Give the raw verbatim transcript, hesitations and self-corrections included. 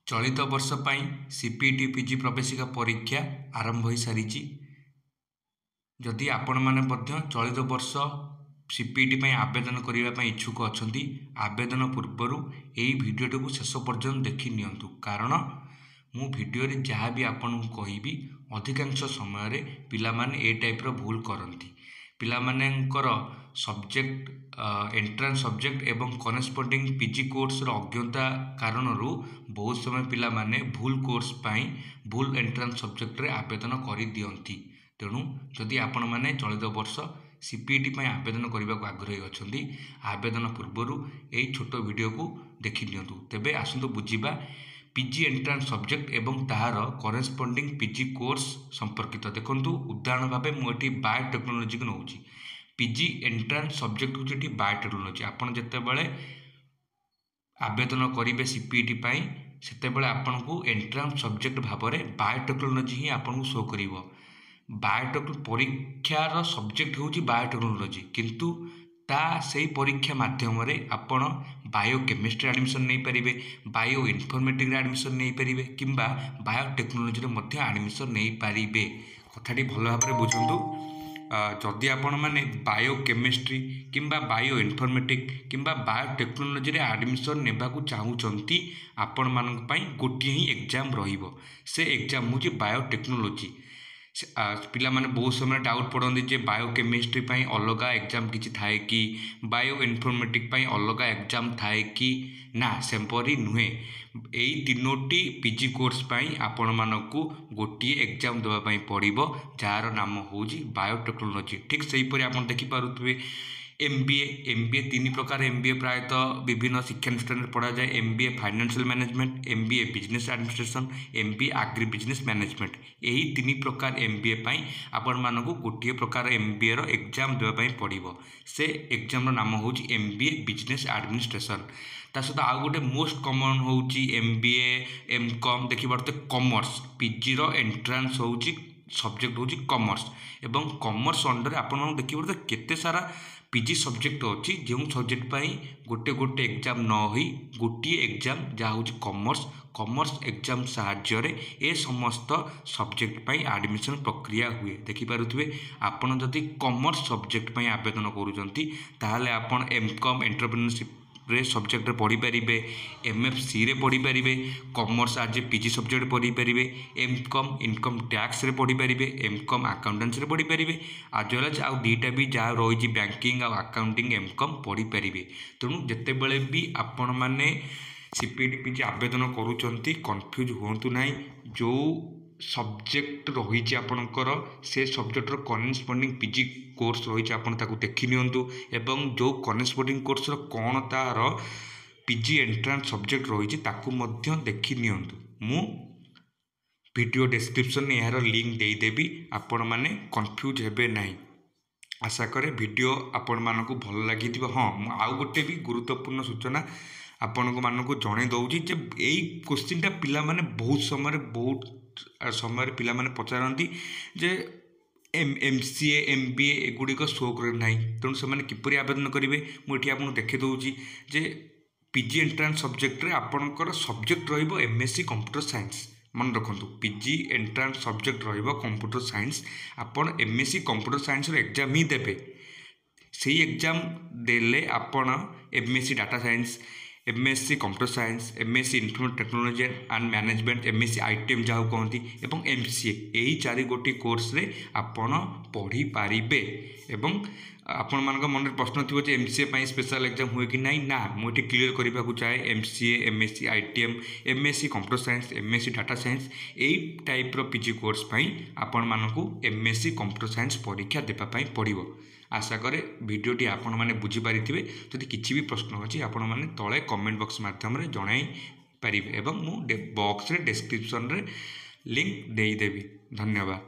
ଚଳିତ ବର୍ଷ ପାଇଁ C P E T P G ପ୍ରବେଶିକା ପରୀକ୍ଷା ଆରମ୍ଭ ହୋଇସାରିଛି। ଯଦି ଆପଣମାନେ ମଧ୍ୟ ଚଳିତ ବର୍ଷ ସି ପି ଇ ଟି ପାଇଁ ଆବେଦନ କରିବା ପାଇଁ ଇଚ୍ଛୁକ ଅଛନ୍ତି, ଆବେଦନ ପୂର୍ବରୁ ଏହି ଭିଡ଼ିଓଟିକୁ ଶେଷ ପର୍ଯ୍ୟନ୍ତ ଦେଖି ନିଅନ୍ତୁ, କାରଣ ମୁଁ ଭିଡ଼ିଓରେ ଯାହା ବି ଆପଣଙ୍କୁ କହିବି, ଅଧିକାଂଶ ସମୟରେ ପିଲାମାନେ ଏ ଟାଇପ୍ର ଭୁଲ କରନ୍ତି। ପିଲାମାନଙ୍କର ସବଜେକ୍ଟ, ଏଣ୍ଟ୍ରାନ୍ସ ସବଜେକ୍ଟ ଏବଂ କରେସ୍ପଣ୍ଡିଂ ପି ଜି କୋର୍ସର ଅଜ୍ଞତା କାରଣରୁ ବହୁତ ସମୟ ପିଲାମାନେ ଭୁଲ କୋର୍ସ ପାଇଁ ଭୁଲ ଏଣ୍ଟ୍ରାନ୍ସ ସବଜେକ୍ଟରେ ଆବେଦନ କରିଦିଅନ୍ତି। ତେଣୁ ଯଦି ଆପଣମାନେ ଚଳିତ ବର୍ଷ ସି ପି ଇ ଟି ପାଇଁ ଆବେଦନ କରିବାକୁ ଆଗ୍ରହୀ ଅଛନ୍ତି, ଆବେଦନ ପୂର୍ବରୁ ଏଇ ଛୋଟ ଭିଡ଼ିଓକୁ ଦେଖି ନିଅନ୍ତୁ। ତେବେ ଆସନ୍ତୁ ବୁଝିବା ପି ଜି ଏଣ୍ଟ୍ରାନ୍ସ ସବଜେକ୍ଟ ଏବଂ ତାହାର କରେସ୍ପଣ୍ଡିଂ ପି ଜି କୋର୍ସ ସମ୍ପର୍କିତ। ଦେଖନ୍ତୁ, ଉଦାହରଣ ଭାବେ ମୁଁ ଏଠି ବାୟୋଟେକ୍ନୋଲୋଜିକୁ ନେଉଛି। ପି ଜି ଏଣ୍ଟ୍ରାନ୍ସ ସବଜେକ୍ଟ ହେଉଛି ଏଠି ବାୟୋଟେକ୍ନୋଲୋଜି। ଆପଣ ଯେତେବେଳେ ଆବେଦନ କରିବେ ସି ପି ଇ ଟି ପାଇଁ, ସେତେବେଳେ ଆପଣଙ୍କୁ ଏଣ୍ଟ୍ରାନ୍ସ ସବଜେକ୍ଟ ଭାବରେ ବାୟୋଟେକ୍ନୋଲୋଜି ହିଁ ଆପଣଙ୍କୁ ଶୋ କରିବ। ବାୟୋଟେକ୍ ପରୀକ୍ଷାର ସବଜେକ୍ଟ ହେଉଛି ବାୟୋଟେକ୍ନୋଲୋଜି, କିନ୍ତୁ ତା ସେଇ ପରୀକ୍ଷା ମାଧ୍ୟମରେ ଆପଣ ବାୟୋକେମିଷ୍ଟ୍ରି ଆଡ଼ମିସନ୍ ନେଇପାରିବେ, ବାୟୋ ଇନଫର୍ମେଟିକ୍ରେ ଆଡ଼ମିସନ୍ ନେଇପାରିବେ କିମ୍ବା ବାୟୋଟେକ୍ନୋଲୋଜିରେ ମଧ୍ୟ ଆଡ଼ମିସନ୍ ନେଇପାରିବେ। କଥାଟି ଭଲ ଭାବରେ ବୁଝନ୍ତୁ। ଯଦି ଆପଣମାନେ ବାୟୋକେମିଷ୍ଟ୍ରି କିମ୍ବା ବାୟୋ ଇନଫର୍ମେଟିକ୍ କିମ୍ବା ବାୟୋଟେକ୍ନୋଲୋଜିରେ ଆଡ଼ମିସନ୍ ନେବାକୁ ଚାହୁଁଛନ୍ତି, ଆପଣମାନଙ୍କ ପାଇଁ ଗୋଟିଏ ହିଁ ଏକ୍ଜାମ୍ ରହିବ, ସେ ଏକ୍ଜାମ୍ ହେଉଛି ବାୟୋଟେକ୍ନୋଲୋଜି। ପିଲାମାନେ ବହୁତ ସମୟରେ ଡାଉଟ୍ ପଡ଼ନ୍ତି ଯେ ବାୟୋକେମିଷ୍ଟ୍ରି ପାଇଁ ଅଲଗା ଏକ୍ଜାମ୍ କିଛି ଥାଏ କି, ବାୟୋ ଇନଫର୍ମେଟିକ୍ ପାଇଁ ଅଲଗା ଏକ୍ଜାମ୍ ଥାଏ କି? ନା, ସେପରି ନୁହେଁ। ଏଇ ତିନୋଟି ପି ଜି କୋର୍ସ ପାଇଁ ଆପଣମାନଙ୍କୁ ଗୋଟିଏ ଏକ୍ଜାମ୍ ଦେବା ପାଇଁ ପଡ଼ିବ, ଯାହାର ନାମ ହେଉଛି ବାୟୋଟେକ୍ନୋଲୋଜି। ଠିକ୍ ସେହିପରି ଆପଣ ଦେଖିପାରୁଥିବେ ଏମ୍ ବି ଏ। ଏମ୍ ବି ଏ ତିନି ପ୍ରକାର ଏମ୍ ବି ଏ ପ୍ରାୟତଃ ବିଭିନ୍ନ ଶିକ୍ଷାନୁଷ୍ଠାନରେ ପଢ଼ାଯାଏ: M B A financial management, M B A business administration, M B A agri business management. ଏହି ତିନି ପ୍ରକାର ଏମ୍ ବି ଏ ପାଇଁ ଆପଣମାନଙ୍କୁ ଗୋଟିଏ ପ୍ରକାର ଏମ୍ ବି ଏର ଏକ୍ଜାମ୍ ଦେବା ପାଇଁ ପଡ଼ିବ। ସେ ଏକ୍ଜାମ୍ର ନାମ ହେଉଛି ଏମ୍ ବି ଏ ବିଜନେସ୍ ଆଡ଼ମିନିଷ୍ଟ୍ରେସନ୍। ତା ସହିତ ଆଉ ଗୋଟେ ମୋଷ୍ଟ କମନ୍ ହେଉଛି ଏମ୍ ବି ଏ, ଏମ୍ କମ୍। ଦେଖିପାରୁଥିବେ କମର୍ସ ପିଜିର ଏଣ୍ଟ୍ରାନ୍ସ ହେଉଛି ସବଜେକ୍ଟ ହେଉଛି କମର୍ସ, ଏବଂ କମର୍ସ ଅଣ୍ଡରରେ ଆପଣମାନଙ୍କୁ ଦେଖିପାରୁଥିବେ କେତେ ସାରା ପି ଜି ସବଜେକ୍ଟ ଅଛି, ଯେଉଁ ସବଜେକ୍ଟ ପାଇଁ ଗୋଟେ ଗୋଟେ ଏକ୍ଜାମ୍ ନ ହୋଇ ଗୋଟିଏ ଏକ୍ଜାମ୍, ଯାହା ହେଉଛି କମର୍ସ। କମର୍ସ ଏକ୍ଜାମ୍ ସାହାଯ୍ୟରେ ଏ ସମସ୍ତ ସବଜେକ୍ଟ ପାଇଁ ଆଡ଼ମିସନ୍ ପ୍ରକ୍ରିୟା ହୁଏ। ଦେଖିପାରୁଥିବେ, ଆପଣ ଯଦି କମର୍ସ ସବଜେକ୍ଟ ପାଇଁ ଆବେଦନ କରୁଛନ୍ତି, ତାହେଲେ ଆପଣ ଏମ୍ କମ୍ ଏଣ୍ଟରପ୍ରିନରସିପ୍ରେ ସବଜେକ୍ଟରେ ପଢ଼ିପାରିବେ, ଏମ୍ ଏଫ୍ ସିରେ ପଢ଼ିପାରିବେ, commerce as A P G subject ପଢ଼ିପାରିବେ, ଏମ୍ କମ୍ ଇନକମ୍ ଟ୍ୟାକ୍ସରେ ପଢ଼ିପାରିବେ, ଏମ୍ କମ୍ ଆକାଉଣ୍ଟାନ୍ସିରେ ପଢ଼ିପାରିବେ, ଆଜ୍ ୱେଲ୍ ଆଜ୍ ଆଉ ଦୁଇଟା ବି ଯାହା ରହିଛି, ବ୍ୟାଙ୍କିଂ ଆଉ ଆକାଉଣ୍ଟିଂ ଏମ୍ କମ୍ ପଢ଼ିପାରିବେ। ତେଣୁ ଯେତେବେଳେ ବି ଆପଣମାନେ C P E T P G ଆବେଦନ କରୁଛନ୍ତି, କନଫ୍ୟୁଜ୍ ହୁଅନ୍ତୁ ନାହିଁ। ଯେଉଁ ସବଜେକ୍ଟ ରହିଛି ଆପଣଙ୍କର, ସେ ସବଜେକ୍ଟର କରେସ୍ପଣ୍ଡିଂ ପି ଜି କୋର୍ସ ରହିଛି, ଆପଣ ତାକୁ ଦେଖି ନିଅନ୍ତୁ, ଏବଂ ଯେଉଁ କରେସ୍ପଣ୍ଡିଂ କୋର୍ସର କ'ଣ ତା'ର ପି ଜି ଏଣ୍ଟ୍ରାନ୍ସ ସବଜେକ୍ଟ ରହିଛି, ତାକୁ ମଧ୍ୟ ଦେଖି ନିଅନ୍ତୁ। ମୁଁ ଭିଡ଼ିଓ ଡେସ୍କ୍ରିପସନ୍ରେ ଏହାର ଲିଙ୍କ୍ ଦେଇଦେବି, ଆପଣମାନେ କନଫ୍ୟୁଜ୍ ହେବେ ନାହିଁ। ଆଶା କରେ ଭିଡ଼ିଓ ଆପଣମାନଙ୍କୁ ଭଲ ଲାଗିଥିବ। ହଁ, ମୁଁ ଆଉ ଗୋଟେ ବି ଗୁରୁତ୍ୱପୂର୍ଣ୍ଣ ସୂଚନା ଆପଣଙ୍କ ମାନଙ୍କୁ ଜଣାଇ ଦେଉଛି ଯେ ଏଇ କୋଶ୍ଚିନ୍ଟା ପିଲାମାନେ ବହୁତ ସମୟରେ ବହୁତ ସମୟରେ ପିଲାମାନେ ପଚାରନ୍ତି ଯେ M M C A, M B ଏ ଏଗୁଡ଼ିକ ଶୋ କରେ ନାହିଁ, ତେଣୁ ସେମାନେ କିପରି ଆବେଦନ କରିବେ? ମୁଁ ଏଠି ଆପଣଙ୍କୁ ଦେଖାଇ ଦେଉଛି ଯେ ପି ଜି ଏଣ୍ଟ୍ରାନ୍ସ ସବଜେକ୍ଟରେ ଆପଣଙ୍କର ସବଜେକ୍ଟ ରହିବ M S C computer science. ମନେ ରଖନ୍ତୁ, ପି ଜି ଏଣ୍ଟ୍ରାନ୍ସ ସବଜେକ୍ଟ ରହିବ କମ୍ପ୍ୟୁଟର ସାଇନ୍ସ। ଆପଣ ଏମ୍ ଏସ୍ ସି କମ୍ପ୍ୟୁଟର ସାଇନ୍ସର ଏକ୍ଜାମ୍ ହିଁ ଦେବେ। ସେଇ ଏକ୍ଜାମ୍ ଦେଲେ ଆପଣ M S C data science, M S C computer science, M S C information technology and management, M S C I T M ଯାହାକୁ କହନ୍ତି, ଏବଂ ଏମ୍ ସି ଏ, ଏହି ଚାରି ଗୋଟି କୋର୍ସରେ ଆପଣ ପଢ଼ିପାରିବେ। ଏବଂ ଆପଣମାନଙ୍କ ମନରେ ପ୍ରଶ୍ନ ଥିବ ଯେ ଏମ୍ ସି ଏ ପାଇଁ ସ୍ପେଶାଲ୍ ଏକ୍ଜାମ୍ ହୁଏ କି ନାହିଁ? ନା, ମୁଁ ଏଠି କ୍ଲିୟର୍ କରିବାକୁ ଚାହେଁ, M C A, M S C I T M, M S C computer science, M S C data science, ଏଇ ଟାଇପ୍ର ପି ଜି କୋର୍ସ ପାଇଁ ଆପଣମାନଙ୍କୁ M S C computer science ପରୀକ୍ଷା ଦେବା ପାଇଁ ପଡ଼ିବ। ଆଶା କରେ ଭିଡ଼ିଓଟି ଆପଣମାନେ ବୁଝିପାରିଥିବେ। ଯଦି କିଛି ବି ପ୍ରଶ୍ନ ଅଛି, ଆପଣମାନେ ତଳେ କମେଣ୍ଟ ବକ୍ସ ମାଧ୍ୟମରେ ଜଣାଇ ପାରିବେ ଏବଂ ମୁଁ ବକ୍ସରେ ଡେସ୍କ୍ରିପସନ୍ରେ ଲିଙ୍କ୍ ଦେଇଦେବି। ଧନ୍ୟବାଦ।